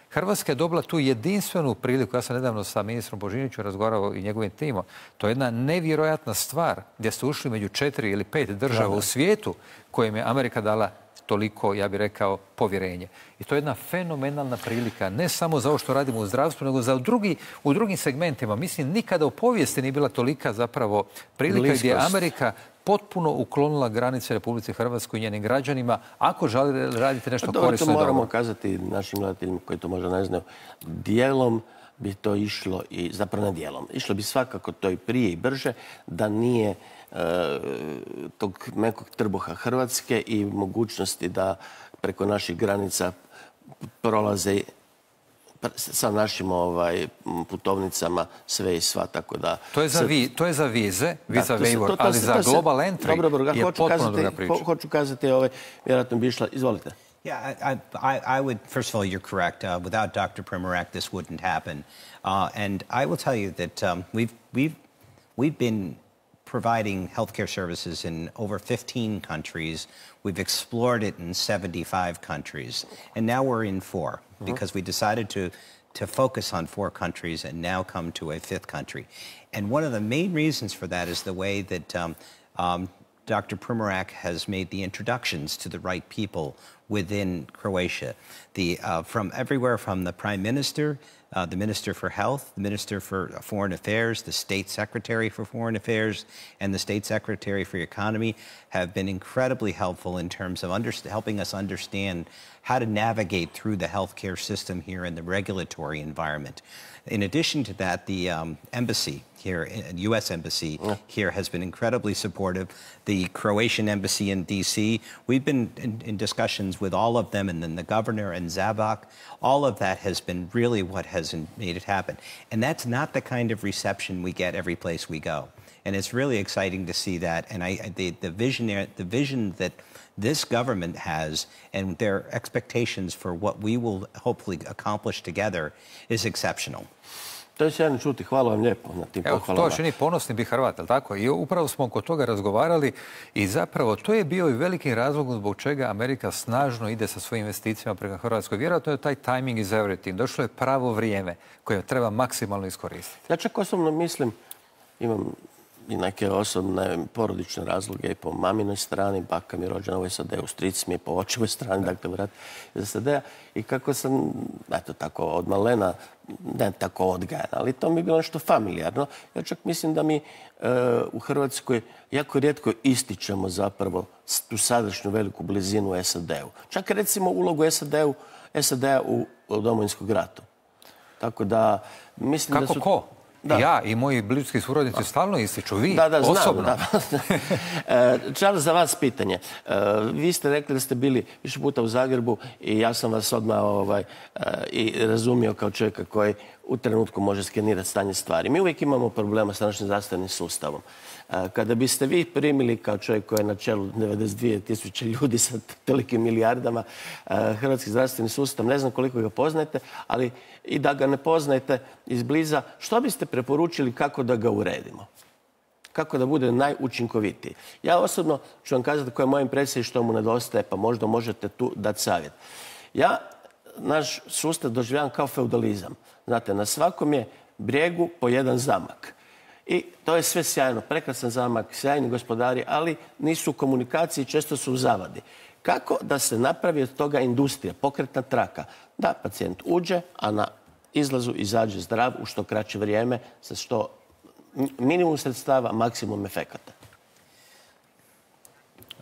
Hrvatska je dobila tu jedinstvenu priliku. Ja sam nedavno sa ministrom Božinovićem razgovarao i njegovim timom. To je jedna nevjerojatna stvar gdje ste ušli među četiri ili pet država da, da. u svijetu kojim je Amerika dala toliko, ja bih rekao, povjerenje. I to je jedna fenomenalna prilika, ne samo za ovo što radimo u zdravstvu, nego za drugi, u drugim segmentima. Mislim, nikada u povijesti nije bila tolika zapravo prilika Bliskost. Gdje Amerika potpuno uklonila granice Republici Hrvatskoj i njenim građanima ako želi raditi nešto pa korisno i dobro. Moramo kazati našim gledateljima koji to možda ne znaju, dijelom bi to išlo i zapravo ne dijelom. Išlo bi svakako to i prije i brže da nije e, tog mekog trbuha Hrvatske i mogućnosti da preko naših granica prolaze sa našim ovaj, putovnicama sve i sva, tako da... To je za, sad, vi, to je za vize, visa da, waiver, to, to, ali to, za to se, global entry dobro, dobro, je hoću potpuno kazati, druga priča. Ho, hoću kazati, ovaj, vjerojatno bi išla, izvolite. Yeah, I, I, I would, first of all, you're correct. Uh, without Doctor Primorak, this wouldn't happen. Uh, and I will tell you that um, we've, we've, we've been providing healthcare services in over fifteen countries. We've explored it in seventy-five countries. And now we're in four mm-hmm. because we decided to, to focus on four countries and now come to a fifth country. And one of the main reasons for that is the way that um, um, Doctor Primorak has made the introductions to the right people within Croatia. The, uh, from everywhere from the Prime Minister, uh, the Minister for Health, the Minister for Foreign Affairs, the State Secretary for Foreign Affairs, and the State Secretary for Economy have been incredibly helpful in terms of under helping us understand how to navigate through the healthcare system here in the regulatory environment. In addition to that, the um, embassy here, U S Embassy yeah. here has been incredibly supportive. The Croatian Embassy in D C, we've been in, in discussions with all of them, and then the governor and Zabak. All of that has been really what has made it happen. And that's not the kind of reception we get every place we go. And it's really exciting to see that. And I, the, the, vision, the vision that this government has and their expectations for what we will hopefully accomplish together is exceptional. To je sjajno čuti. Hvala vam lijepo na tim pohvalama. To čini ponosni bi Hrvat, ali tako? I upravo smo oko toga razgovarali i zapravo to je bio i veliki razlog zbog čega Amerika snažno ide sa svojim investicijama prema Hrvatskoj. Vjerojatno je taj timing is everything. Došlo je pravo vrijeme koje treba maksimalno iskoristiti. Ja čak osobno mislim, imam i neke osobne porodične razloge i po maminoj strani, baka mi je rođena u S A D-u, stric mi je po očevoj strani, dakle vrat iz S A D-a. I kako sam, eto tako, od malena, ne tako odgajana, ali to mi je bilo nešto familijarno. Ja čak mislim da mi e, u Hrvatskoj jako rijetko ističemo zapravo tu sadašnju veliku blizinu S A D-u. Čak recimo ulogu S A D-u, S A D-a u, u Domovinskom ratu. Tako da mislim kako da su... ko? Da. Ja i moji bliski suradnici stalno ističu. Vi, da, da, znam, osobno. Da. Charles, za vas pitanje. Vi ste rekli da ste bili više puta u Zagrebu i ja sam vas odmah ovaj, i razumio kao čovjeka koji u trenutku može skenirati stanje stvari. Mi uvijek imamo problema s našim zdravstvenim sustavom. Kada biste vi primili kao čovjek koji je na čelu devedeset dvije tisuće ljudi sa tolikim milijardama hrvatski zdravstveni sustav, ne znam koliko ga poznajete, ali i da ga ne poznajete izbliza, što biste preporučili kako da ga uredimo? Kako da bude najučinkovitiji? Ja osobno ću vam kazati koja je moja impresija i što mu nedostaje, pa možda možete tu dati savjet. Ja naš sustav doživljavam kao feudalizam. Znate, na svakom je brijegu po jedan zamak. I to je sve sjajno, prekrasan zamak, sjajni gospodari, ali nisu u komunikaciji, često su u zavadi. Kako da se napravi od toga industrija, pokretna traka? Da pacijent uđe, a na izlazu izađe zdrav u što kraće vrijeme, sa što minimum sredstava, maksimum efekata.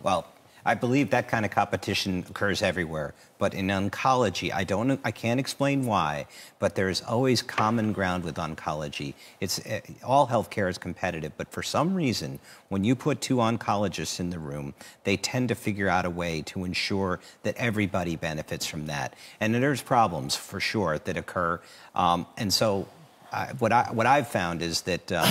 Well, I believe that kind of competition occurs everywhere. But in oncology, I don't, I can't explain why, but there is always common ground with oncology. It's, all healthcare is competitive, but for some reason, when you put two oncologists in the room, they tend to figure out a way to ensure that everybody benefits from that. And there's problems, for sure, that occur. Um, and so I, what, I, what I've found is that uh,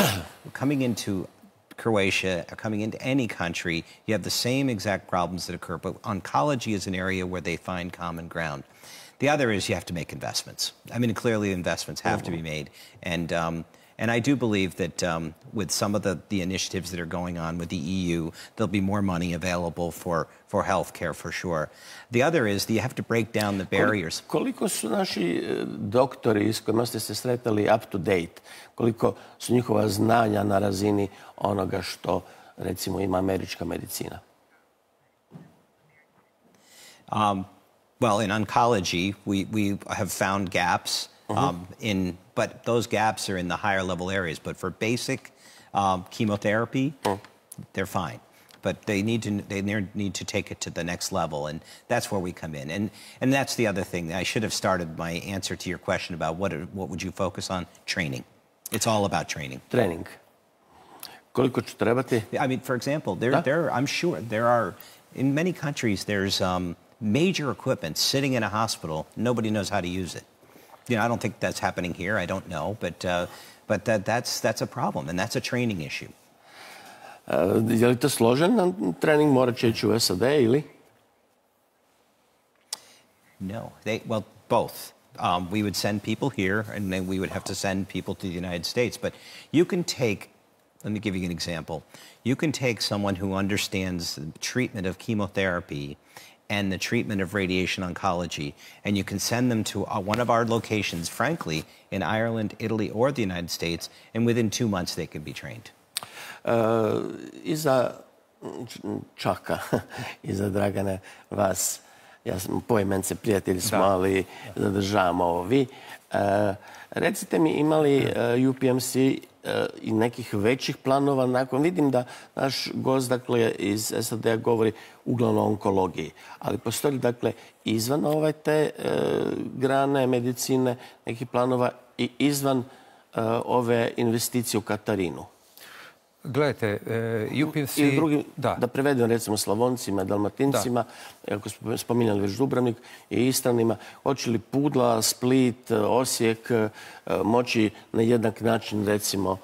coming into Croatia, or coming into any country, you have the same exact problems that occur, but oncology is an area where they find common ground. The other is you have to make investments. I mean, clearly investments have to be made. And, um, and I do believe that um, with some of the, the initiatives that are going on with the E U, there'll be more money available for, for healthcare, for sure. The other is that you have to break down the barriers. Koliko su naši doktori s kojima ste se sretali up to date? Koliko su njihova znanja na razini onoga što, recimo, ima američka medicina? Um, well, in oncology, we, we have found gaps, um, mm-hmm. in, but those gaps are in the higher level areas. But for basic um, chemotherapy, mm. they're fine. but they need to they need to take it to the next level, and that's where we come in. And and that's the other thing. I should have started my answer to your question about what are, what would you focus on? Training. It's all about training. Trening. Koliko će trebati? I mean, for example, there there I'm sure there are in many countries there's um, major equipment sitting in a hospital. Nobody knows how to use it. You know, I don't think that's happening here. I don't know, but uh, but that that's that's a problem, and that's a training issue. Uh, je li to složen trening? Morat će ići u S A D ili? No, they well both. Um, we would send people here, and then we would have to send people to the United States. But you can take. Let me give you an example. You can take someone who understands the treatment of chemotherapy and the treatment of radiation oncology, and you can send them to uh, one of our locations, frankly, in Ireland, Italy, or the United States, and within two months they could be trained. Uh, iza Čaka, iza Dragane, vas, ja sam poimence prijatelji smo, da, ali zadržavamo ovo vi. Uh, recite mi, imali uh, U P M C uh, i nekih većih planova nakon? Vidim da naš gost, dakle, iz S A D-a govori uglavnom o onkologiji, ali postoji, dakle, izvan ovaj te uh, grane medicine nekih planova i izvan uh, ove investicije u Katarinu? Gledajte, U P M C... I drugi, da. da prevedem recimo Slavoncima, Dalmatincima, da. Ako smo spominjali već Dubrovnik i Istranima, hoće li Pudla, Split, Osijek moći na jednak način recimo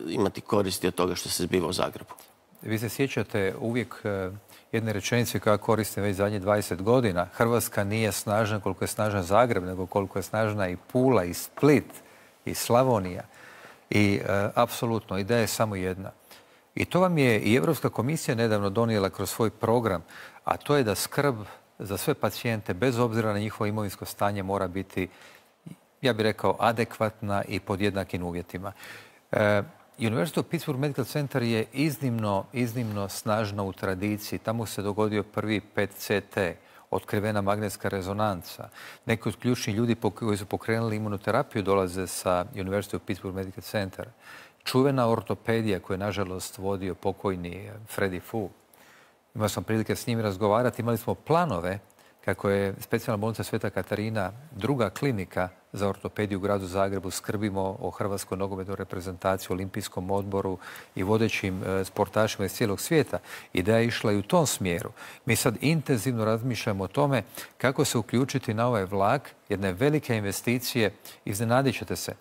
imati koristi od toga što se zbiva u Zagrebu? Vi se sjećate uvijek jedne rečenice koja koristim već zadnjih dvadeset godina. Hrvatska nije snažna koliko je snažan Zagreb, nego koliko je snažna i Pula, i Split, i Slavonija. I e, apsolutno, ideja je samo jedna. I to vam je i Europska komisija nedavno donijela kroz svoj program, a to je da skrb za sve pacijente, bez obzira na njihovo imovinsko stanje, mora biti, ja bih rekao, adekvatna i pod jednakim uvjetima. E, University of Pittsburgh Medical Center je iznimno, iznimno snažna u tradiciji. Tamo se dogodio prvi P E T C T, otkrivena magnetska rezonanca. Neki od ključnih ljudi koji su pokrenuli imunoterapiju dolaze sa University of Pittsburgh Medical Center. Čuvena ortopedija koju je nažalost vodio pokojni Freddy Fu. Imao sam prilike s njim razgovarati. Imali smo planove kako je specijalna bolnica Sveta Katarina druga klinika za ortopediju u gradu Zagrebu. Skrbimo o hrvatskoj nogometnoj reprezentaciji, olimpijskom odboru i vodećim sportašima iz cijelog svijeta. Ideja je išla i u tom smjeru. Mi sad intenzivno razmišljamo o tome kako se uključiti na ovaj vlak jedne velike investicije. Iznenadit ćete se.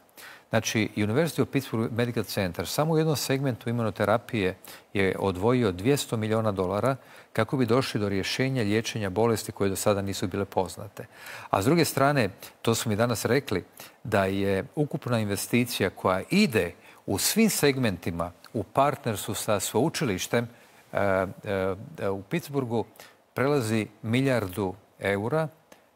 Znači, University of Pittsburgh Medical Center samo u jednom segmentu imunoterapije je odvojio dvjesto milijuna dolara kako bi došli do rješenja liječenja bolesti koje do sada nisu bile poznate. A s druge strane, to su mi danas rekli, da je ukupna investicija koja ide u svim segmentima u partnerstvu sa sveučilištem e, e, u Pittsburghu prelazi milijardu eura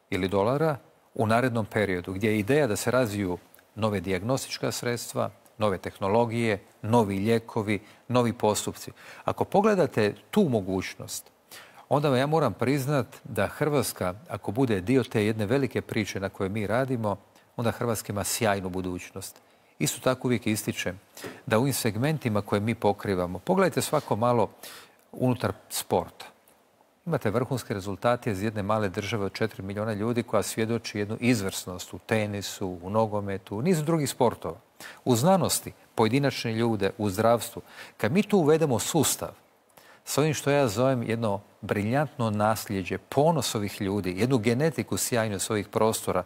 ili dolara u narednom periodu, gdje je ideja da se razviju nove dijagnostička sredstva, nove tehnologije, novi lijekovi, novi postupci. Ako pogledate tu mogućnost, onda ja moram priznat da Hrvatska, ako bude dio te jedne velike priče na kojoj mi radimo, onda Hrvatska ima sjajnu budućnost. Isto tako uvijek ističem da u ovim segmentima koje mi pokrivamo, pogledajte svako malo unutar sporta. Imate vrhunske rezultate iz jedne male države od četiri milijuna ljudi koja svjedoči jednu izvrsnost u tenisu, u nogometu, u nizu drugih sportova. U znanosti, pojedinačne ljude, u zdravstvu. Kad mi tu uvedemo sustav s ovim što ja zovem jedno briljantno nasljeđe, ponos ovih ljudi, jednu genetiku sjajnu s ovih prostora,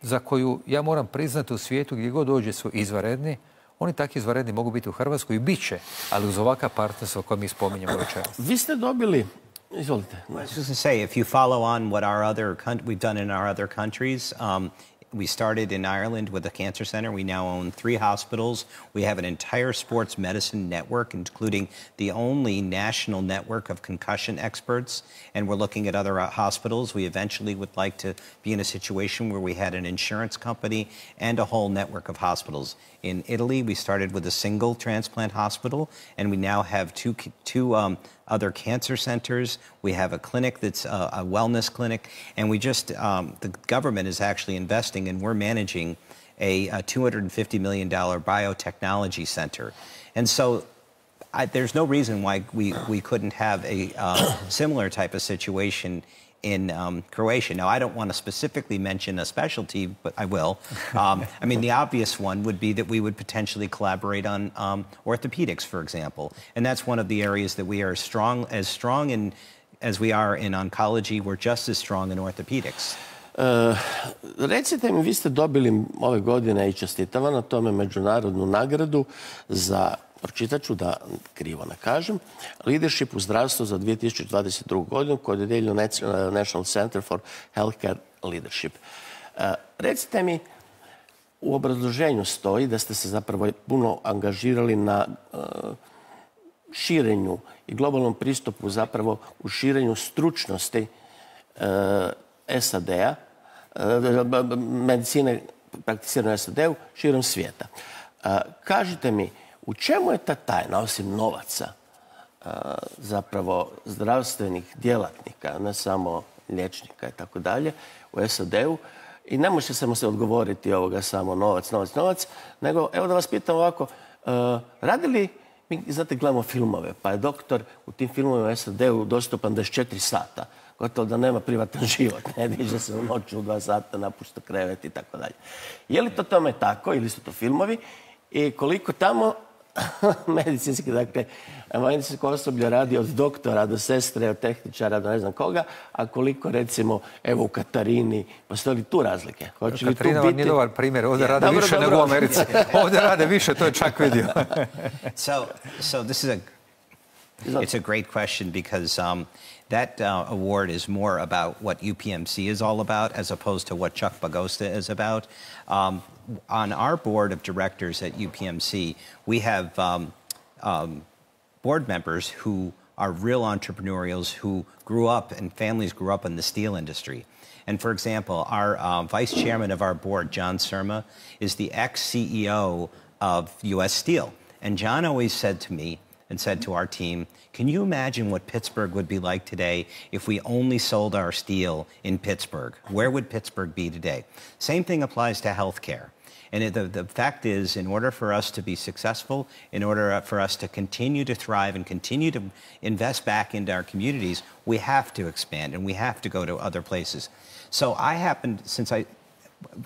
za koju ja moram priznati u svijetu gdje god dođe su izvanredni, oni takvi izvanredni mogu biti u Hrvatskoj i bit će, ali uz ovakav partnerstvo koje mi spominjemo večeras. Vi ste dobili... Izvolite. I was just to say, if you follow on what our other we've done in our other countries, um, we started in Ireland with a cancer center. We now own three hospitals. We have an entire sports medicine network, including the only national network of concussion experts. And we're looking at other hospitals. We eventually would like to be in a situation where we had an insurance company and a whole network of hospitals. In Italy, we started with a single transplant hospital, and we now have two, two um, other cancer centers. We have a clinic that's a, a wellness clinic, and we just, um, the government is actually investing, and we're managing a, a two hundred fifty million dollar biotechnology center. And so I, there's no reason why we, we couldn't have a uh, similar type of situation in um, Croatia. Now, I don't want to specifically mention a specialty, but I will. Um, I mean, the obvious one would be that we would potentially collaborate on um, orthopedics, for example. And that's one of the areas that we are strong, as strong in, as we are in oncology, we're just as strong in orthopedics. Uh, recite mi, vi ste dobili ove godine i čestitam vam na tome međunarodnu nagradu za, pročitat ću da krivo ne kažem, Leadership u zdravstvu za dvije tisuće dvadeset drugu. godinu koju je dodijelio National Center for Healthcare Leadership. Uh, recite mi, u obrazloženju stoji da ste se zapravo puno angažirali na uh, širenju i globalnom pristupu zapravo u širenju stručnosti uh, S A D-a, medicine prakticirane u S A D-u širom svijeta. Kažite mi, u čemu je ta tajna, osim novaca, zapravo zdravstvenih djelatnika, ne samo liječnika i tako dalje, u S A D-u? I ne može samo se odgovoriti ovoga samo novac, novac, novac, nego evo da vas pitam ovako, radi li, mi znate gledamo filmove, pa je doktor u tim filmovima u S A D-u dostupan dvadeset četiri sata, gotovo da nema privatan život, ne diže se u noću u dva sata, napušta krevet i tako dalje. Je li to tome tako ili su to filmovi i koliko tamo medicinski, dakle, medicinsko osoblje radi od doktora do sestre, od tehničara do ne znam koga, a koliko recimo, evo u Katarini, postoje li tu razlike? Katarina vam nije dobar primjer, ovdje rade više nego u Americi. Ovdje rade više, to je čak vidio. So, so this is a, it's a great question because um, that uh, award is more about what U P M C is all about as opposed to what Chuck Bagosta is about. Um, on our board of directors at U P M C, we have um, um, board members who are real entrepreneurials who grew up and families grew up in the steel industry. And for example, our um, vice chairman of our board, John Surma, is the ex-C E O of U S Steel. And John always said to me, and said to our team, can you imagine what Pittsburgh would be like today if we only sold our steel in Pittsburgh? Where would Pittsburgh be today? Same thing applies to healthcare. And it, the, the fact is, in order for us to be successful, in order for us to continue to thrive and continue to invest back into our communities, we have to expand and we have to go to other places. So I happened, since I,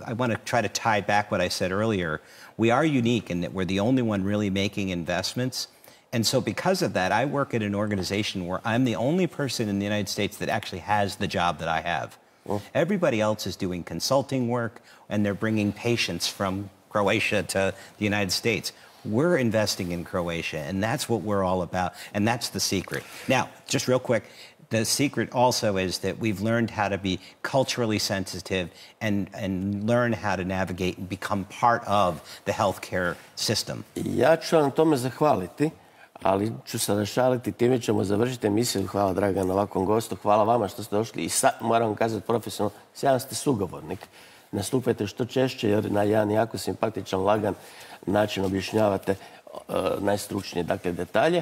I want to try to tie back what I said earlier, we are unique in that we're the only one really making investments. And so because of that, I work at an organization where I'm the only person in the United States that actually has the job that I have. Well, everybody else is doing consulting work, and they're bringing patients from Croatia to the United States. We're investing in Croatia, and that's what we're all about, and that's the secret. Now, just real quick, the secret also is that we've learned how to be culturally sensitive and, and learn how to navigate and become part of the healthcare system. Ja ću vam tome zahvaliti. Ali ću se našaliti, time ćemo završiti emisiju. Hvala, draga, na ovakvom gostu. Hvala vama što ste došli i sad, moram vam kazati profesionalno, sjajan ste sugovornik. Nastupajte što češće jer na jedan jako simpatičan, lagan način objašnjavate uh, najstručnije, dakle, detalje.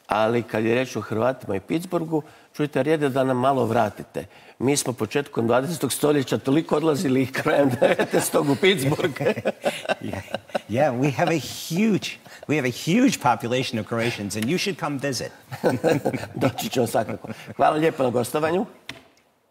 Ali kad je reč o Hrvatima i Pittsburghu, čujte, red je da nam malo vratite. Mi smo početkom dvadesetog stoljeća toliko odlazili i krajem devetnaestog u Pittsburgh. yeah, yeah, we have a huge, we have a huge population of Croatians, and you should come visit. Doći ćemo svakako. Hvala lijepo na gostovanju.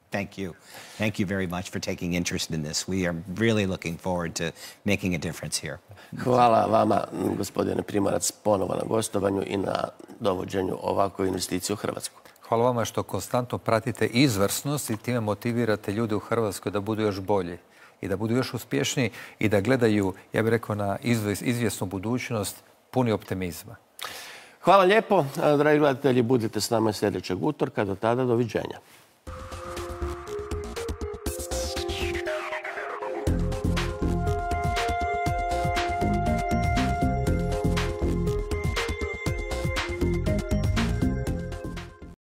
Thank you. Thank you very much for taking interest in this. We are really looking forward to making a difference here. Hvala vama, gospodine Primorac, ponovo na gostovanju i na dovođenju ovakve investicije u Hrvatsku. Hvala vama što konstantno pratite izvrsnost i time motivirate ljude u Hrvatskoj da budu još bolji i da budu još uspješniji i da gledaju, ja bih rekao, na izvjesnu budućnost puni optimizma. Hvala lijepo, dragi gledatelji, budite s nama sljedećeg utorka. Do tada, doviđenja.